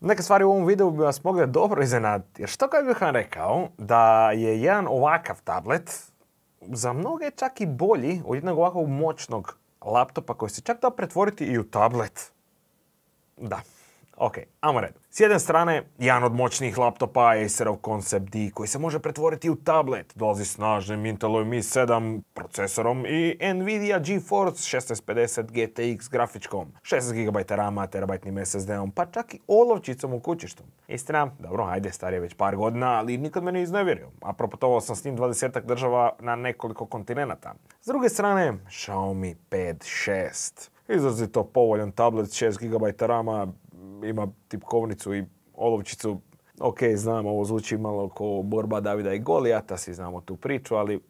Neke stvari u ovom videu bi vas mogle dobro iznenaditi, jer što kad bih vam rekao da je jedan ovakav tablet za mnoge čak i bolji od jednog ovakvog moćnog laptopa koji se čak da pretvoriti i u tablet. Da. Ok, ajmo redom. S jedne strane, jedan od moćnijih laptopa, Acerov Concept D, koji se može pretvoriti u tablet. Dolazi snažnim Intelovim i7 procesorom i Nvidia GeForce 1650 GTX grafičkom, 16 GB rama, terabajtnim SSD-om, pa čak i olovčicom u kućištu. Istina, dobro, ajde, star je već par godina, ali nikad me ne iznevjerio. A proputovao sam s njim 20 država na nekoliko kontinenata. S druge strane, Xiaomi Pad 6. Izrazito povoljan tablet, 6 GB rama, ima tipkovnicu i olovčicu. Ok, znam, ovo zvuči malo kao borba Davida i Golijata, svi znamo tu priču, ali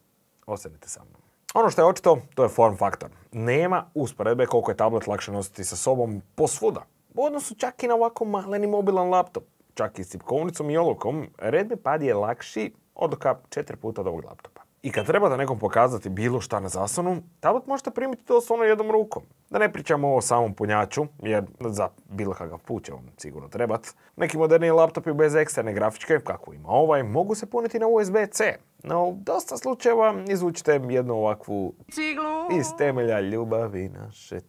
ostanite sa mnom. Ono što je očito, to je form faktor. Nema usporedbe koliko je tablet lakše nositi sa sobom posvuda. U odnosu čak i na ovako maleni mobilan laptop. Čak i s tipkovnicom i olovkom, Redmi Pad je lakši od 4 puta od ovog laptopa. I kad trebate nekom pokazati bilo šta na zaslonu, tablet možete primiti doslovno jednom rukom. Da ne pričamo o samom punjaču, jer za bilo kakav put će vam sigurno trebat. Neki moderniji laptopi bez eksterne grafičke, kako ima ovaj, mogu se puniti na USB-C. No, u dosta slučajeva izvučite jednu ovakvu ciglu iz temelja ljubavi naše.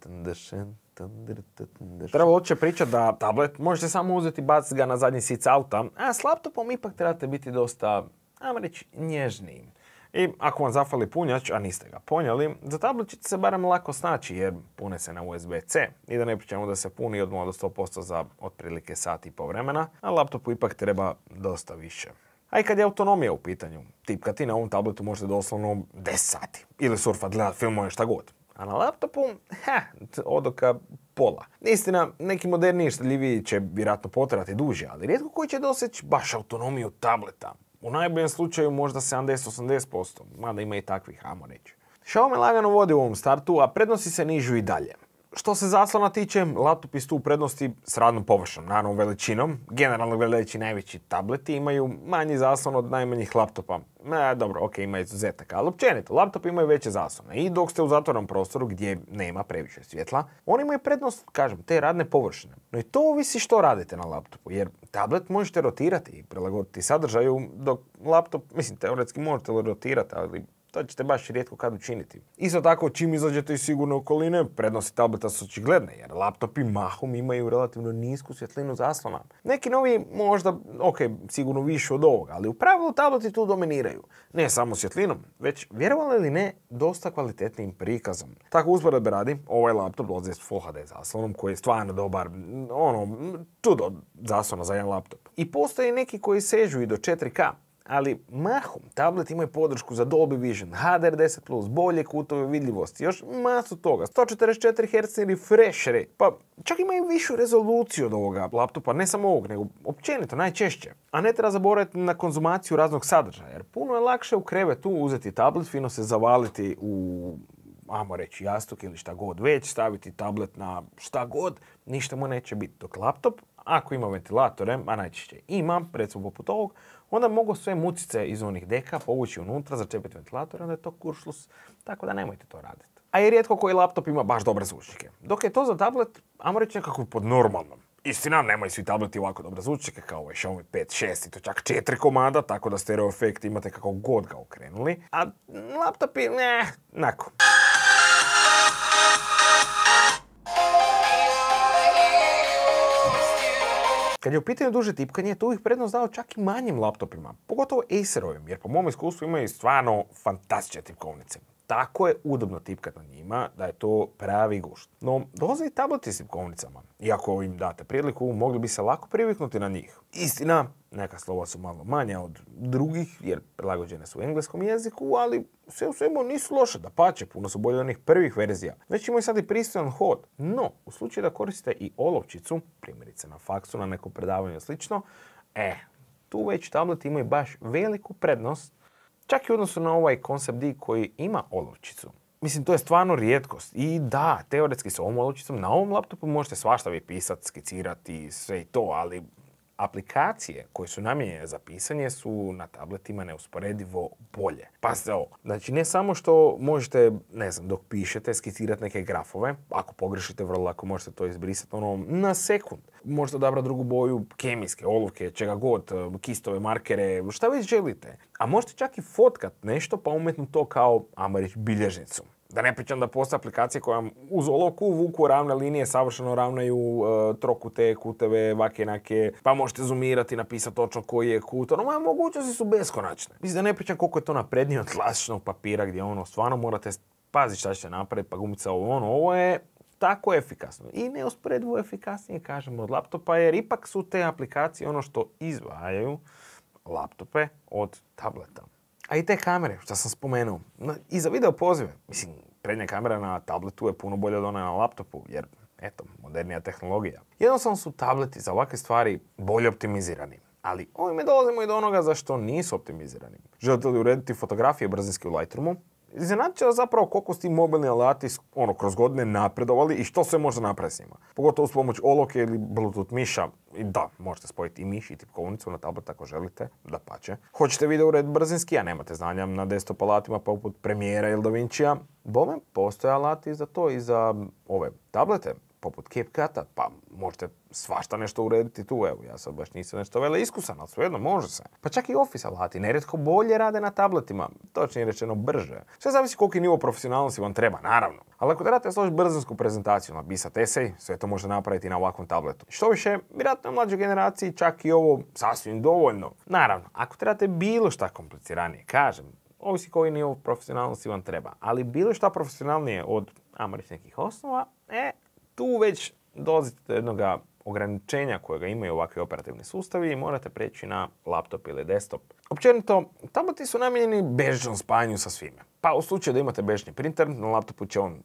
Treba uopće pričati da tablet možete samo uzeti i baciti ga na zadnji sic auta, a s laptopom ipak trebate biti dosta, ajmo reći, nježniji. I ako vam zafali punjač, a niste ga ponijeli, za tablet ćete se barem lako snaći jer pune se na USB-C. I da ne pričamo da se puni od 0 do 100% za otprilike sat i pol vremena, a laptopu ipak treba dosta više. A i kad je autonomija u pitanju, tipkati na ovom tabletu možete doslovno 10 sati. Ili surfat, gledat filmove, šta god. A na laptopu, odoka pola. Istina, neki moderniji i štedljiviji će vjerojatno potrajati duže, ali rijetko koji će doseći baš autonomiju tableta. U najboljem slučaju možda 70-80%, mada ima i takvih, ajmo reći. Xiaomi lagano vodi u ovom startu, a prednosti se nižu i dalje. Što se zaslona tiče, laptopi su tu u prednosti s radnom površinom, naravno veličinom. Generalno gledajući najveći tableti imaju manji zaslon od najmanjih laptopa. Dobro, ok, ima izuzetaka, ali općenito, laptopi imaju veće zaslone. I dok ste u zatvorenom prostoru gdje nema previše svjetla, oni imaju prednost, kažem, te radne površine. No i to ovisi što radite na laptopu, jer tablet možete rotirati i prilagoditi sadržaju, dok laptop, teoretski možete rotirati, ali to ćete baš rijetko kad učiniti. Isto tako, čim izađete iz sigurne okoline, prednosti tableta su očigledne, jer laptopi mahom imaju relativno nisku svjetlinu zaslona. Neki novi možda, sigurno više od ovoga, ali u pravilu tableti tu dominiraju. Ne samo svjetlinom, već, vjerovali ili ne, dosta kvalitetnim prikazom. Tako usporedbe radi, ovaj laptop dolazi s Full HD zaslonom, koji je stvarno dobar, čudo zaslona za jedan laptop. I postoje neki koji sežu i do 4K. Ali mahom, tablet imaju podršku za Dolby Vision, HDR10+, bolje kutove vidljivosti, još masu toga, 144 Hz refresh rate, pa čak imaju višu rezoluciju od ovoga laptopa, ne samo ovog, nego općenito, najčešće. A ne treba zaboraviti na konzumaciju raznog sadržaja, jer puno je lakše u krevetu uzeti tablet, fino se zavaliti u, ajmo reći, jastuk ili šta god već, staviti tablet na šta god, ništa mu neće biti. Dok laptop, ako ima ventilatore, a najčešće ima, recimo poput ovog, onda mogu sve mucice iz onih deka povući unutra, začepiti ventilator, onda je to kuršlus, tako da nemojte to raditi. A i rijetko koji laptop ima baš dobre zvučnike. Dok je to za tablet, ajmo reći nekako pod normalnom. Istina, nemaju svi tableti ovako dobre zvučnike kao ovaj Xiaomi Pad 6 i to čak 4 komada, tako da stereo efekt imate kako god ga okrenuli. A laptopi, nako. Kad je u pitanju duže tipkanje, tu ih prednost dao čak i manjim laptopima, pogotovo Acerovim, jer po mom iskustvu imaju stvarno fantastične tipkovnice. Tako je udobno tipkati na njima da je to pravi gušt. No, dolaze i tableti s tipkovnicama. Iako im date priliku, mogli bi se lako priviknuti na njih. Istina, neka slova su malo manja od drugih, jer prilagođene su u engleskom jeziku, ali sve u svemu nisu loše, dapače, puno su bolje od onih prvih verzija. Već imaju sad i pristojan hod. No, u slučaju da koristite i olovčicu, primjerice na faksu, na nekom predavanju i slično, tu već tableti imaju baš veliku prednost, čak i u odnosu na ovaj Concept D koji ima olovčicu. To je stvarno rijetkost. I da, teoretski s ovom olovčicom na ovom laptopu možete svašta vi pisati, skicirati, sve i to, ali aplikacije koje su namijenjene za pisanje su na tabletima neusporedivo bolje. Pazite ovo, znači ne samo što možete, ne znam, dok pišete, skicirati neke grafove, ako pogrešite vrlo lako možete to izbrisati na sekund. Možete odabrati drugu boju, kemijske, olovke, čega god, kistove, markere, šta već želite. A možete čak i fotkat nešto pa umetnuti to kao, ajmo reći, bilježnicu. Da ne pričam da postoje aplikacije koje vam uz olovku vuku ravne linije, savršeno ravnaju trokute, kuteve, vakenake, pa možete zoomirati i napisati točno koji je kut. Mogućnosti su beskonačne. Mislim da ne pričam koliko je to naprednije od klasičnog papira gdje stvarno morate paziti šta ćete napraviti, pa gumica ovo je tako efikasno. I neusporedivo efikasnije, kažemo, od laptopa, jer ipak su te aplikacije ono što izdvajaju laptope od tableta. A i te kamere, što sam spomenuo, i za video pozive. Mislim, prednja kamera na tabletu je puno bolja od ona na laptopu, jer, eto, modernija tehnologija. Jednostavno su tableti za ovakve stvari bolje optimizirani. Ali ovime dolazimo i do onoga za što nisu optimizirani. Želite li urediti fotografije brzinski u Lightroomu? Iznenadit će vas zapravo koliko su ti mobilni alati kroz godine napredovali i što sve može napraviti s njima. Pogotovo s pomoć olovke ili Bluetooth miša. I da, možete spojiti i miš i tipkovnicu na tablet ako želite, dapače. Hoćete video urediti brzinski, a nemate znanja na desktop alatima poput Premiera ili DaVincija. Bome, postoje alati za to i za ove tablete, poput CapCuta, pa možete svašta nešto urediti tu, evo, ja sad baš nisam nešto vele iskusan, ali svejedno može se. Pa čak i Office alati nerijetko bolje rade na tabletima, točnije rečeno brže. Sve zavisi koliki nivo profesionalnosti vam treba, naravno. Ali ako trebate složiti brzinsku prezentaciju, napisati esej, sve to može napraviti na ovakvom tabletu. Što više, vjerojatno u mlađoj generaciji čak i ovo sasvim dovoljno. Naravno, ako trebate bilo šta kompliciranije, kažem, ovisi koji nivo profesionalnosti vam treba, ali bilo šta profesionalnije od, ajmo reći, nekih osnova, tu već dolazite do jednog ograničenja kojega imaju ovakvi operativni sustavi i morate preći na laptop ili desktop. Općenito, tableti su namijenjeni bežičnom spajanju sa svime. Pa u slučaju da imate bežični printer, na laptopu će on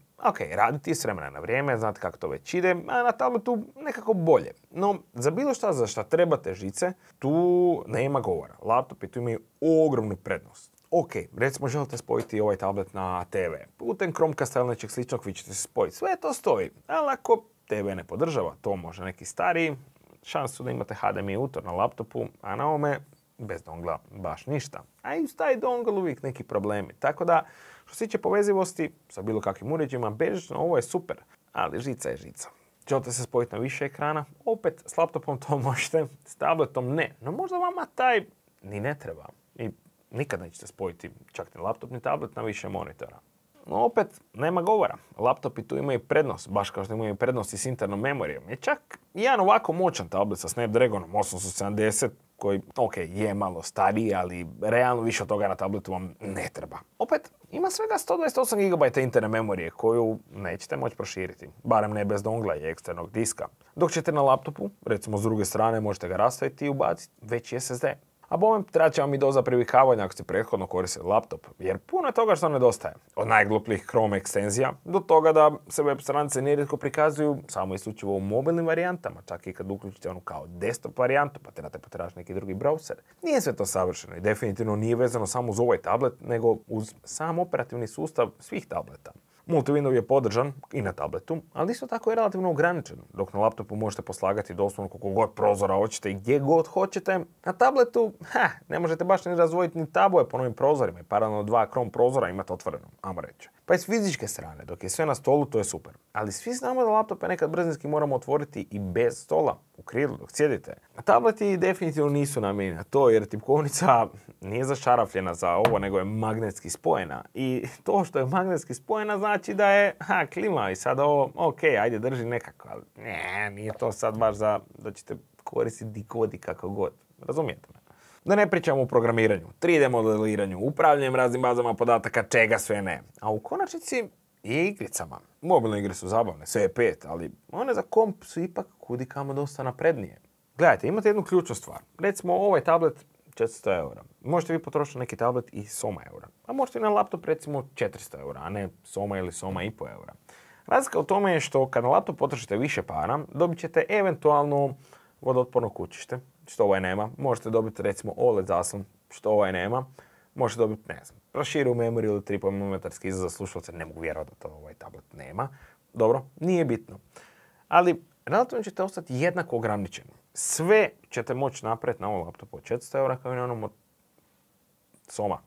raditi s vremena na vrijeme, znate kako to već ide, a na tabletu nekako bolje. No, za bilo šta za šta trebate žice, tu nema govora. Laptopi tu imaju ogromnu prednost. Ok, recimo želite spojiti ovaj tablet na TV. Putem Chromecasta ili nečeg sličnog vi ćete se spojiti. Sve to stoji, ali ako TV ne podržava, to može neki stariji, šansu da imate HDMI utor na laptopu, a na ovome bez dongla baš ništa. A i uz taj dongle uvijek neki problemi. Tako da, što se tiče povezivosti sa bilo kakvim uređajima, bežično ovo je super, ali žica je žica. Želite se spojiti na više ekrana, opet s laptopom to možete, s tabletom ne. No možda vama taj ni ne treba. I nikad nećete spojiti čak ni laptop ni tablet na više monitora. No opet, nema govora. Laptopi tu imaju prednost, baš kao što imaju prednosti s internom memorijom. Je čak jedan ovako moćan tablet sa Snapdragonom 870, koji, je malo stariji, ali realno više od toga na tabletu vam ne treba. Opet, ima svega 128 GB interne memorije koju nećete moći proširiti, barem ne bez dongla i eksternog diska. Dok ćete na laptopu, recimo s druge strane, možete ga rastaviti i ubaciti veći SSD. A bome, treba će vam i doza privikavanja ako ste prethodno koristili laptop, jer puno je toga što nedostaje. Od najglupljih Chrome ekstenzija do toga da se web stranice nerijetko prikazuju samo isključivo u mobilnim varijantama, čak i kad uključite onu kao desktop varijantu, pa trebate potražiti neki drugi browser. Nije sve to savršeno i definitivno nije vezano samo uz ovaj tablet, nego uz sam operativni sustav svih tableta. Multi-window je podržan i na tabletu, ali isto tako je relativno ograničen. Dok na laptopu možete poslagati doslovno koliko god prozora hoćete i gdje god hoćete, na tabletu, ne možete baš ni razvojiti ni tabove po novim prozorima i paralelno 2 Chrome prozora imate otvoreno, ajmo reći. Pa iz fizičke strane, dok je sve na stolu, to je super. Ali svi znamo da laptope nekad brzinski moramo otvoriti i bez stola, u krilu, dok sjedite. Tableti definitivno nisu namijenjeni na to, jer tipkovnica nije zašarafljena za ovo, nego je magnetski spojena. I to što je magnetski spojena znači da je, klima i sad ovo, ajde drži nekako, ali nije to sad baš da ćete koristiti dikodi kako god. Razumijete me? Da ne pričamo o programiranju, 3D modeliranju, upravljanjem raznim bazama podataka, čega sve ne. A u konačnici i igricama. Mobilne igre su zabavne, sve je 5, ali one za komp su ipak kudikamo dosta naprednije. Gledajte, imate jednu ključnu stvar. Recimo ovaj tablet 400 eura. Možete vi potrošiti neki tablet i soma eura. A možete i na laptop recimo 400 eura, a ne soma ili soma i po eura. Razlika u tome je što kad na laptop potrošite više para, dobit ćete eventualno vodootporno kućište, što ovaj nema. Možete dobiti recimo OLED zaslon, što ovaj nema. Možete dobiti, proširu memoriju ili 3,5 mm izlaz za slušalce, ne mogu vjerovati da to ovaj tablet nema. Dobro, nije bitno. Ali relativno ćete ostati jednako ograničeni. Sve ćete moći napraviti na ovom laptopu od 400 eura kao i na onom od Soma.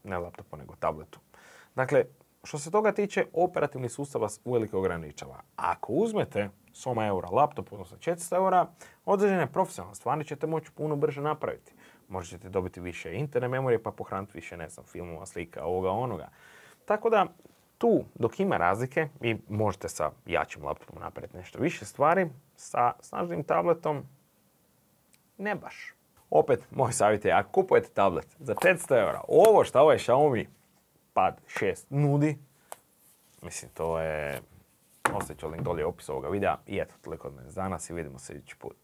Ne laptopu, nego tabletu. Dakle, što se toga tiče, operativni sustav vas uvelike ograničava. Ako uzmete Soma eura laptop, odnosno 400 eura, određene profesionalne stvari ćete moći puno brže napraviti. Možete dobiti više interne memorije pa pohraniti više, ne znam, filmova, slika, ovoga, onoga. Tako da, tu, dok ima razlike, vi možete sa jačim laptopom napraviti nešto više stvari, sa snažnim tabletom, ne baš. Opet, moj savjet je, ako kupujete tablet za 500 eura, ovo što ovaj Xiaomi Pad 6 nudi, mislim, to je... Ostavit ću link dolje u opisu ovoga videa. I eto, toliko od mene za danas i vidimo se idući put.